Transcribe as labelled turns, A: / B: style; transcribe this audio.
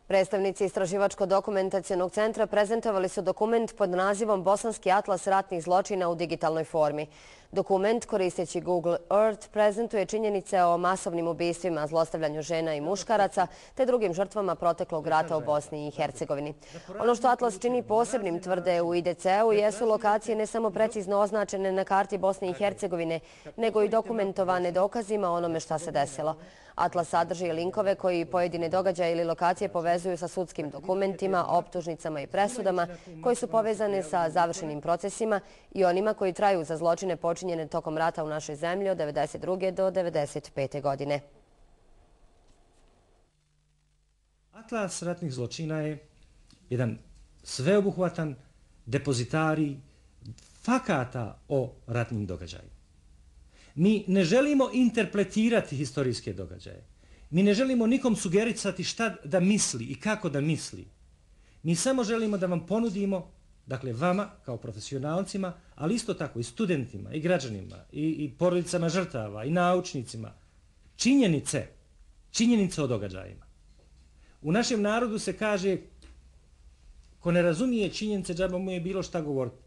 A: Predstavnici Istraživačko-dokumentacionog centra prezentovali su dokument pod nazivom Bosanski atlas ratnih zločina u digitalnoj formi. Dokument, koristeći Google Earth, prezentuje činjenice o masovnim ubistvima, zlostavljanju žena i muškaraca te drugim žrtvama proteklog rata u Bosni i Hercegovini. Ono što atlas čini posebnim, tvrde u IDC-u, jesu lokacije ne samo precizno označene na karti Bosne i Hercegovine, nego i dokumentovane dokazima o onome šta se desilo. Atlas sadrži linkove koji pojedine događaje ili lokacije povezuju sa sudskim dokumentima, optužnicama i presudama koji su povezane sa završenim procesima i onima koji traju za zločine počinjene tokom rata u našoj zemlji od 1992. do 1995. godine.
B: Atlas ratnih zločina je jedan sveobuhvatan depozitarij fakata o ratnim događajima. Mi ne želimo interpretirati historijske događaje. Mi ne želimo nikom sugerisati šta da misli i kako da misli. Mi samo želimo da vam ponudimo, dakle vama kao profesionalcima, ali isto tako i studentima, i građanima, i porodicama žrtava, i naučnicima, činjenice o događajima. U našem narodu se kaže, ko ne razumije činjenice, džaba mu je bilo šta govoriti.